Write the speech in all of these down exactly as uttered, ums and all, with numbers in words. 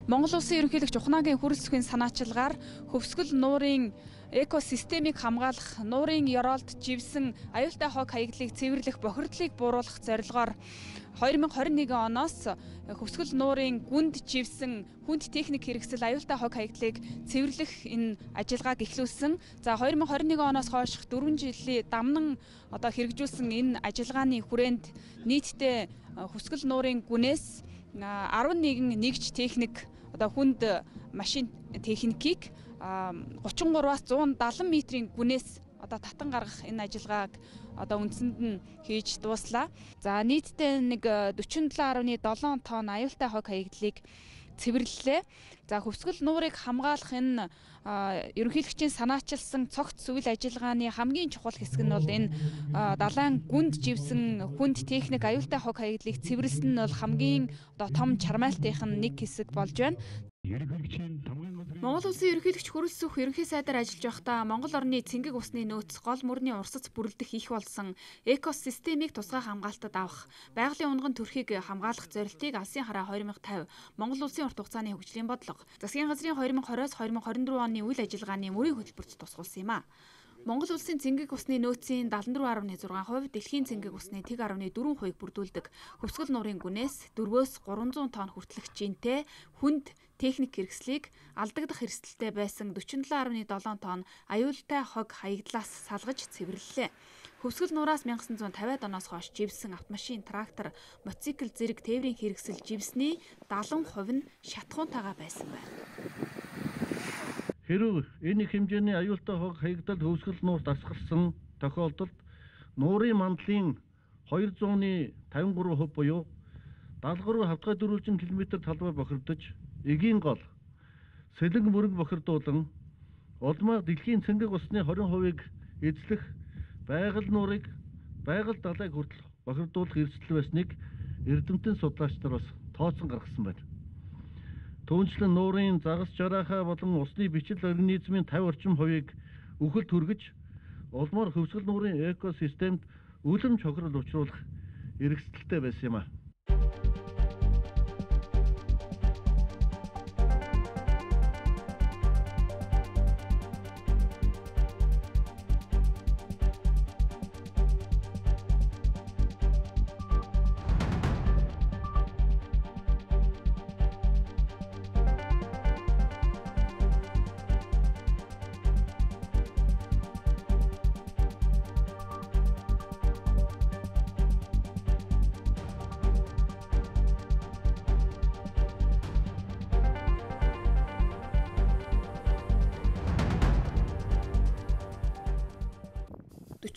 Монгол Улсын ерөнхийлөгч Ухнагийн хүрэлцэхийн санаачилгаар хөвсгөл нуурын экосистемийг хамгаалах, нуурын ёроолд живсэн аюултай хог хаягдлыг цэвэрлэх бохирдлыг бууруулах зорилгоор две тысячи двадцать один оноос хөвсгөл нуурын гүнд живсэн хүнд техник хэрэгсэл аюултай хог хаягдлыг цэвэрлэх энэ ажиллагааг эхлүүлсэн. За две тысячи двадцать один оноос хойш дөрвөн жилийн дамнан одоо хэрэгжүүлсэн энэ ажиллагааны хүрээнд нийтдээ хөвсгөл нуурын гүнээс арван нэгэн нэгж техник одоо хүнд машин техникийг гучин гураваас зуун дагалан метрийн гүнээс одоо татан гаргах энэ ажиллагааг одоо үндсэнд нь хийж дууслаа. За нийтдээ нэг forty-seven point seven тонн аюултай хог хаягдлыг цэвэрлэлээ. За хөвсгөл нуурыг хамгаалах энэ ерөнхийлөгчийн санаачилсан цогц үйл ажиллагааны хамгийн чухал хэсэг нь бол энэ далайн гүнд живсэн хүнд техник аюултай хог хаягдлыг цэвэрлсэн нь бол хамгийн одоо том чармайлтынх нь нэг хэсэг болж байна. Монгол Улсын ерөнхийлөгч хүрэлцэх ерөнхий сайдаар ажиллаж байхдаа Монгол орны цэнгэг усны нөөц гол мөрний урсац бүрэлдэх их болсон экосистемийг тусгай хамгаалтад авах, байгалийн унган төрхийг хамгаалах зорилтыг Алсын хараа twenty fifty Монгол Улсын урт хугацааны хөгжлийн бодлого, засгийн газрын twenty twenty-с twenty twenty-four оны үйл ажиллагааны мөрийн хөтөлбөрт тусгуулсан юм а. Монгол Улсын цэнгэг усны нөөцийн seventy-four point six хувь, дэлхийн цэнгэг усны one point four хувийг бүрдүүлдэг. Хөвсгөл нуурын гүнээс four-өөс three hundred тонн хүртэлх жинтэй хүнд техник хэрэгслийг алдагдах эрсдэлтэй байсан forty-seven point seven тонн аюултай хог хаягдлаас салгаж цэвэрлэлээ. Хөвсгөл нураас nineteen fifty оноос хойш живсэн автомашин, трактор, мотоцикл зэрэг тээврийн хэрэгсэл живсний seventy percent нь шатхуунтайгаа байсан байна. Хэрв энэ хэмжээний аюултай хог хаягдал хөвсгөл нуурт асгарсан тохиолдолд нуурын мандлын two hundred fifty-three хувь буюу даалгавруу хавтгай дөрвөлжин км талбай бохирдож, эгийн гол сэлэн мөрөг бохирдуулан улмаа дэлхийн цэнгэг усны twenty хувийг эзлэх байгаль нуурыг байгаль далайг хүртэл бохирдуулах эрсдэл байсныг эрдэмтэн судлаач нар бас тооцсон гаргасан байна. Түүнчлэн нуурын загас жараахаа болон усны бичил организмын fifty орчим хувийг үхэлд хүргэж, улмаар хөвсгөл нуурын экосистемд үлэм чухрал учруулах эрсдэлтэй байсан юм а.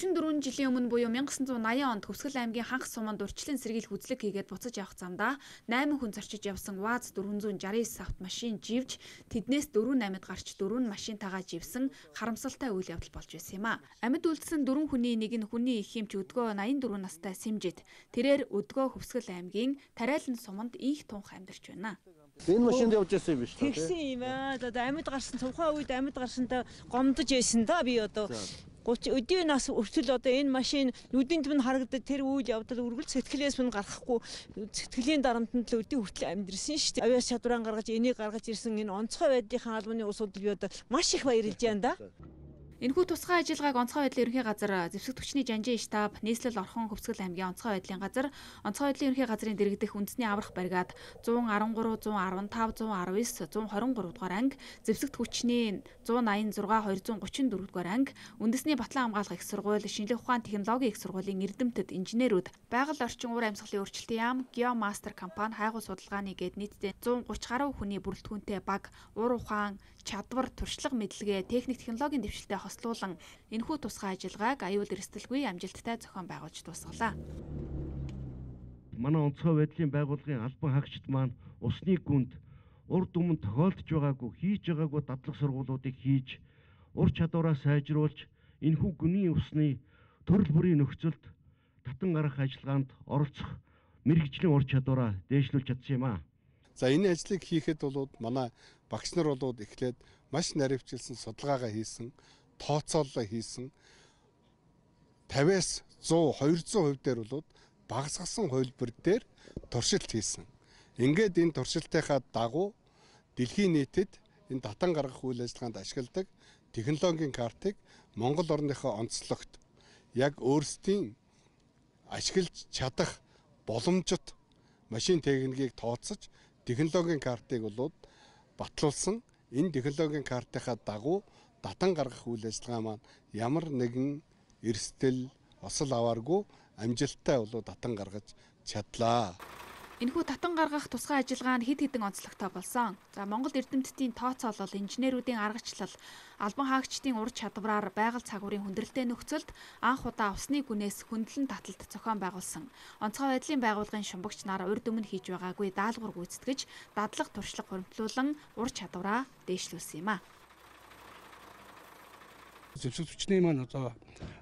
forty-four жилийн өмнө буюу nineteen eighty онд Хөвсгөл аймгийн Ханх суманд урьдчилан сэргийлэх үзлэг хийгээд буцаж явах замдаа eight хүн зорчиж явсан ВАЗ four sixty-nine автомашин живж, тэднээс four eight гарч four машинтайгаа живсэн харамсалтай үйл явдал болж байсан юм а. Амьд үлдсэн four хүний нэг нь хүний их хэмч өдгөө eighty-four настай Симжид. Тэрээр өдгөө Хөвсгөл аймгийн Тариалан суманд их тунх амьдарч байна. Энэ машинд явж байсан юм биш үү? Тэгсэн юм аа. Одоо амьд гарсан тухайн үед амьд гарсантай гомдож байсан да би одоо thirty өдийн нас өртөл одоо энэ машин нүдийн төв нь харагдаад тэр үйл явдал үргэлж сэтгэлээс минь гарахгүй сэтгэлийн дарамтанд л өдийн хүртэл амьдрсэн шүү дээ. Авиас чадвараа гаргаж энийг гаргаж ирсэн энэ онцгой байдлын албаны усууд би одоо маш их баярлж байна да. Энэхүү тусгай ажиллагааг онцгой байдлын ерөнхий газар, зэвсэг түвшний жанжин штаб, нийслэл орхон Хөвсгөл аймгийн онцгой байдлын газар, онцгой байдлын ерөнхий газрын дэргэдэх үндэсний аврах бригад one thirteen, one fifteen, one twenty-nine, one twenty-three дугаар анги, зэвсэг түвшний one eighty-six, two thirty-four дугаар анги, үндэсний батлан хамгаалах их сургууль, шинжлэх ухаан технологийн их сургуулийн эрдэмтэд, инженерүүд, байгаль орчин уур амьсгалын өөрчлөлтийн яам, Geomaster компани, хайгуу судалгааны гээд нийтдээ one thirty гаруй хүний бүрэлдэхүүнтэй баг, уур ухаан, чадвар, туршлага мэдлэгээ, техник технологийн дэвшилтэд хослуулан энэхүү тусгай ажиллагааг аюул эрсдэлгүй амжилттай зохион байгуулж дуусгалаа. Манай онцгой байдлын байгууллагын албан хаагчид маань усны гүнд урд өмнө тохиолдож байгаагүй, хийж байгаагүй дадлаг сургуулиудыг хийж, ур чадвараа сайжруулж, энэхүү гүний усны төрөл бүрийн нөхцөлд татан гарах ажиллагаанд оролцох мэрэгжлийн ур чадвараа дээшлүүлж чадсан юм а. За энэ ажлыг хийхэд бол манай багш нар болоод эхлээд маш наривчилсан судалгаагаа хийсэн, тооцооллоо хийсэн. fifty-аас one hundred, two hund% дээр бол багасгасан хувилбар дээр туршилт хийсэн. Ингээд энэ туршилтынхаа дагуу дэлхийн нийтэд энэ татан гаргах үйл ажиллагаанд ашигладаг технологийн картыг Монгол орныхоо онцлогт яг өөрсдийн ашиглаж чадах боломжит машин техникийг тооцож технологийн картыг болоод батлуулсан. Энэ технологийн картынхаа дагуу татан гаргах үйл ажиллагаа маань ямар нэгэн эрсдэл осол авааргүй амжилттай болоод татан гаргаж чадлаа. Энэхүү татан гаргах тусгай ажиллагаа нь хэд хэдэн онцлогтой болсон. За Монгол эрдэмтдийн тооцоолол, инженеруудын аргачлал, албан хаагчдын ур чадвараар байгаль цагуурын хүндрэлтэй нөхцөлд анх удаа усны гүнээс хөндлөн таталт зохион байгуулсан. Онцгой байдлын байгууллагын шумбагч нар урд өмнө хийж байгаагүй даалгавар гүйцэтгэж, дадлаг туршлага хөрвүүлэн ур чадвараа дээшлүүлсэн юм а. Зэвсэг хүчний маань одоо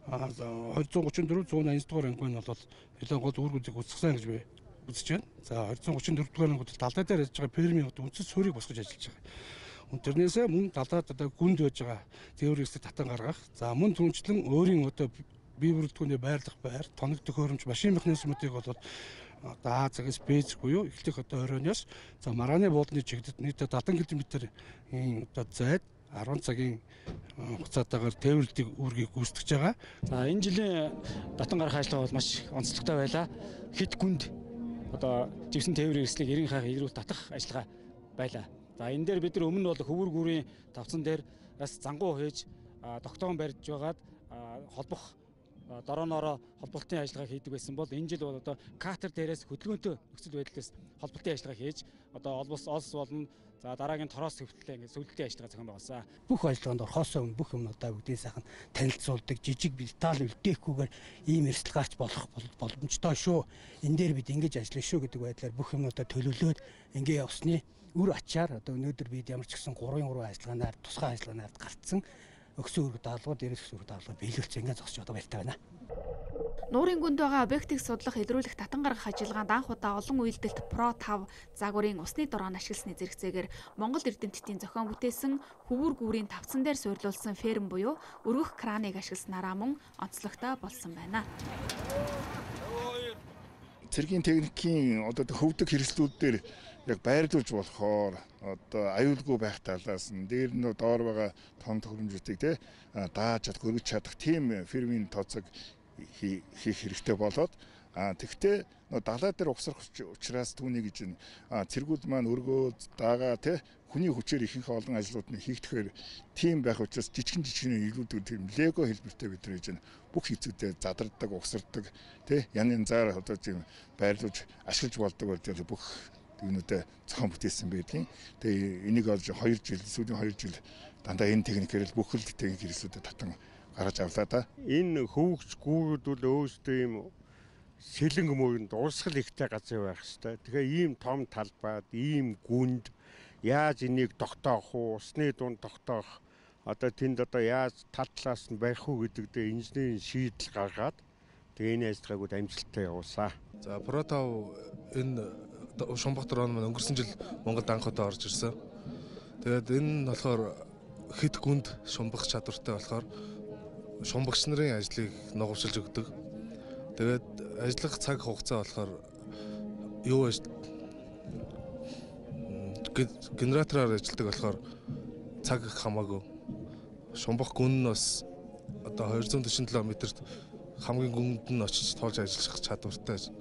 хоёр гучин дөрөв зуун аян дугаар анги нь бол нэлээд гол үр гүйцэтгэх үсгсэн гэж би үзэж байна. За хоёр гучин дөрөв дугаар ангид талдаа дээр ажиллаж байгаа фермийн үндэс суурийг босгож ажиллаж байгаа. Тэрнээсээ мөн талаад одоо гүнд байж байгаа теорикстэй татан гаргах. За мөн түнчлэн өөрийн одоо бие бүрэлдэхүүнээ байрлах байр, тоног төхөөрөмж, машин механизмуудыг бол одоо А цагаас Б цаг буюу эхлэх одоо оройноос за марааны буудалны чигдэд нийтдээ дадан километрийн одоо зайд арван цагийн хугацаатаагаар тээвэрлэлтийг үүргийг гүйцэтгэж байгаа. За энэ жилийн татан гарах ажиллагаа бол маш онцлогтой байлаа. Хэд гүнд одоо живсэн тээврийн эрслийг эрен хаах илрүүл татах ажиллагаа байлаа. За энэ дээр бид нар өмнө бол хөвөр гүрийн тавцан дээр бас зангуу хийж тогтоон барьж байгаад холбох дорооноороо холболтын ажиллагаа хийдэг байсан бол энэ жил бол одоо катер дээрээс хөдөлгөөнтэй нөхцөл байдлаас холболтын ажиллагаа хийж одоо олбос олс болно. За дараагийн тороос хөвтлээ ингээд сүлдэлтийн ажиллагаа зохион байгуулсан. Бүх ажиллагаанд орхосоо өмнө бүх юмнуудаа бүгдийн сайхан танилцуулдаг, жижиг деталь үлдээхгүйгээр ийм эрсдэл гарч болох боломжтой шүү. Энэ дээр бид ингэж ажиллана шүү гэдэг байдлаар бүх юмнуудаа төлөвлөөд ингээ явсны үр ачаар одоо өнөөдөр бид ямар ч гэсэн гурван гурван ажиллагаанаар тусгай ажиллагаанаар гарцсан өгсөн үүрэг даалгавар, дээрээс өгсөн үүрэг даалгавар биелүүлсэн ингээд зогсож одоо баяртай байна. Нуурын гүнд байгаа объектыг судлах, илрүүлэх, татан гаргах ажиллагаанд анх удаа олон үйлдэлт Про тавь загварын усны дороон ашигласны зэрэгцээгээр Монгол эрдэмтдийн зохион бүтээсэн хөвөр гүүрийн тавцан дээр суйрлуулсан ферм буюу өргөх краныг ашигласнараа мөн онцлогтой болсон байна. Цэргийн техникийн одоо хөвдөг хэрэгслүүдээр яг байрлуулж болохоор одоо аюулгүй байх талаас нь дээр нь доор байгаа тон төхөөрөмжүүдийг те дааж чадах, өргөж чадах тийм фермийн тооцоог хийх хэрэгтэй болоод а тэгвэл далай дээр угсрах учраас түүний гэж цэргүүд маань өргөөд дагаа те хүний хүчээр ихэнх олон ажлууд нь хийгдэхээр тийм байх учраас жижигэн жижигэн илүүдүүд тийм лего хэлбэртэй бид нар хийж байна. Бүх хэцүүдээр задардаг, угсардаг те янын заар одоо тийм байрлуулж ашиглаж болдог бол бүх түүнүүдээ зохион бүтээсэн байдгийн. Тэгээ энийг олж хоёр жил, сүүлийн хоёр жил дандаа энэ техникээр бүх л техник хэрэгслүүдэд татан гаргаж авлаа да. Энэ хөвгч гүүрүүд бол өөрсдөө ийм сэлэнг мөрөнд урсгал ихтэй газар байх хэвээр. Тэгэхээр ийм том талбайд, ийм гүнд яаж энийг тогтоох уу, усны дунд тогтоох одоо тэнд одоо яаж тал талаас нь барих уу гэдэг дээр инженерийн шийдэл гаргаад тэгээ энэ ажиллагааг амжилттай явуулсан. За Про тавь энэ Шумбах дрон маань өнгөрсөн жил Монголд анх удаа орж ирсэн. Тэгээд энэ нь болохоор хэд гүнд шумбах чадвартай болохоор шумбагч нарын ажлыг нугавчилж өгдөг. Тэгээд ажиллах цаг хугацаа болохоор юу вэ? Генератороор ажилладаг болохоор цаг хамаагүй. Шумбах гүн нь бас одоо двести сексен километрт хамгийн гүнд нь очиж тоолж ажиллах чадвартай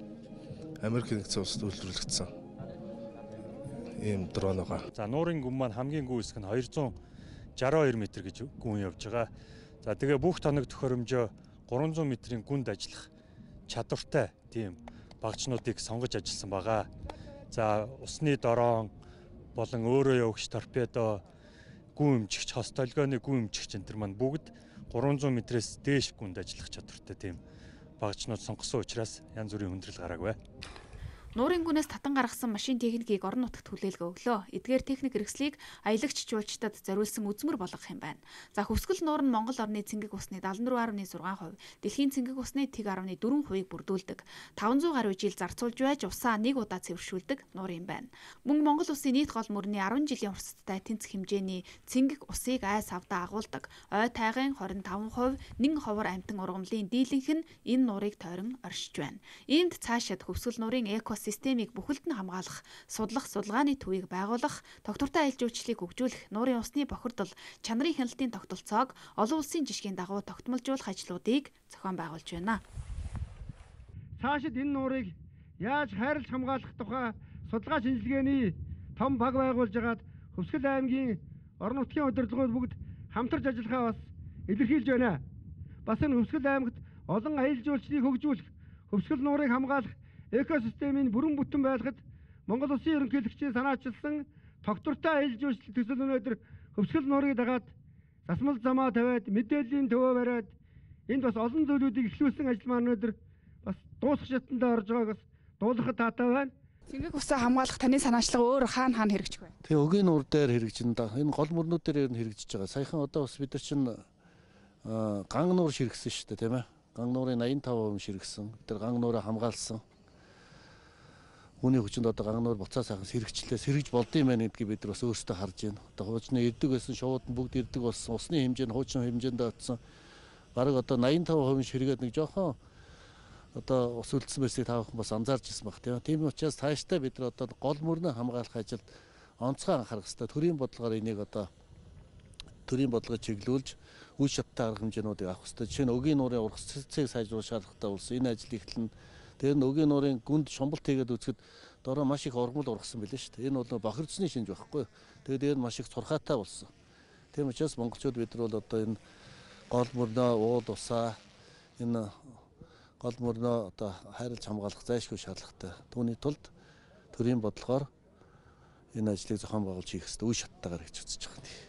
Америк нэгдсэн улсад үйлдвэрлэгдсэн ийм дрон байгаа. За нуурын гүн маань хамгийн гүн хэсэг нь двести шестьдесят two метр гэж гүн явж байгаа. За тэгээ бүх тоног төхөөрөмжөө триста метрийн гүнд ажиллах чадвартай тийм багцнуудыг сонгож ажилласан байгаа. За усны дорон болон өөрөө явагч торпедо, гүн эмчигч, хос толгойн гүн эмчигч энэ төр маань бүгд триста метрээс дээш гүнд ажиллах чадвартай тийм багцнууд сонгосон учраас янз бүрийн хүндрэл гараагүй. Нуурын гүнээс татан гаргасан машин техникийг орон нутагт хүлээлгэ өглөө. Эдгээр техник хэрэгслийг аялагч жуулчдад зориулсан үзмэр болгох юм байна. За хөвсгөл нуур нь Монгол орны цэнгэг усны седемдесет дөрвөн дашин сix хувь, дэлхийн цэнгэг усны тэг дөрвөн дашин four бүрдүүлдэг. five hundred гаруй жил зарцуулж байж усаа нэг удаа цэвэршүүлдэг нуур юм байна. Мөн Монгол улсын нийт гол мөрний ten жилийн урсгалтай тэнцэх хэмжээний цэнгэг усыг айс авдаа агуулдаг. Ой тайгын twenty-five хувь нэн ховор амтан ургамлын дийлэнх нь энэ нуурыг тойрон оршиж байна. Энд цаашид хөвсгөл нуурын эко экосистемийг бүхэлд нь хамгаалах, судлах, судалгааны төвийг байгуулах, тогтвортой аялал жуулчлалыг хөгжүүлэх, нуурын усны бохирдол, чанарын хяналтын тогтолцоог олон улсын жишгийн дагуу тогтмолжуулах ажлуудыг зохион байгуулж байна. Цаашид энэ нуурыг яаж хайрлаж хамгаалах тухай судалгаа шинжилгээний том баг байгуулж агаад Хөвсгөл аймгийн орон нутгийн удирдлагууд бүгд хамтарч ажиллахаа бас илэрхийлж байна. Бас энэ Хөвсгөл аймагт олон аялал жуулчлалыг хөгжүүлэх, Хөвсгөл нуурыг хамгаалах экосистемийн бүрэн бүтэн байлгахад Монгол Улсын ерөнхийлөгчийн санаачилсан тогтвортой аялал жуулчлал төсөл өнөөдөр Хөвсгөл нуурыг дагаад засмал замаа тавиад мэдээллийн төвөө бариад энд бас олон зүйлүүдийг эхлүүлсэн ажил маань өнөөдөр бас дуусах шатанд орж байгааг бас дуулахад таатай байна. Цэнгэг усаа хамгаалах таны санаачлага өөр хаана хаана хэрэгжих вэ? Тэгээ өгийн нуур дээр хэрэгжин да. Энэ гол мөрнүүд дээр хэрэгжиж байгаа. Саяхан одоо бас бид нар чинь ган нуур ширхсэн шүү дээ, тийм ээ. Ган нуурын eighty-five percent ширхсэн. Бид нар ган нуураа хамгаалсан. Үүний хүчинд одоо ган нуур буцаа сайхан сэргчлээ, сэргэж болдсон юм байна гэдгийг бид нар бас өөрсдөө харж байна. Одоо хуучны ирдэг байсан шууд нь бүгд ирдэг болсон. Усны хэмжээ нь хуучин хэмжээнд очсон. Бараг одоо eighty-five percent ширгээд нэг жоохон одоо ус үлдсэн байсыг таавах бас анзаарч ирсэн баг тийм. Тийм учраас цаашдаа бид нар одоо гол мөрнө хамгаалах ажилд онцгой анхаарах хэрэгтэй. Төрийн бодлогоор энийг одоо төрийн бодлогыг чиглүүлж үе шаттай арга хэмжээнүүдийг авах хэрэгтэй. Жишээ нь өгийн нуурын ургас цэцгийг сайжруулах шаардлагатай болсон. Энэ ажил эхлэн тэр нь өгийн нуурын гүнд шумбалт хийгээд үзэхэд дороо маш их ургамал ургасан билээ шүү дээ. Энэ бол бохирдсны шинж байхгүй. Тэгээд дээр нь маш их цурхаатай болсон. Тийм учраас монголчууд бид нар бол одоо энэ гол мөрнө уул усаа энэ гол мөрнөө одоо хайрлаж хамгаалах зайлшгүй шаардлагатай. Түүний тулд төрийн бодлогоор энэ ажлыг зохион байгуулж хийх хэрэгтэй үе шаттайгаар гэж үзэж байгаа юм.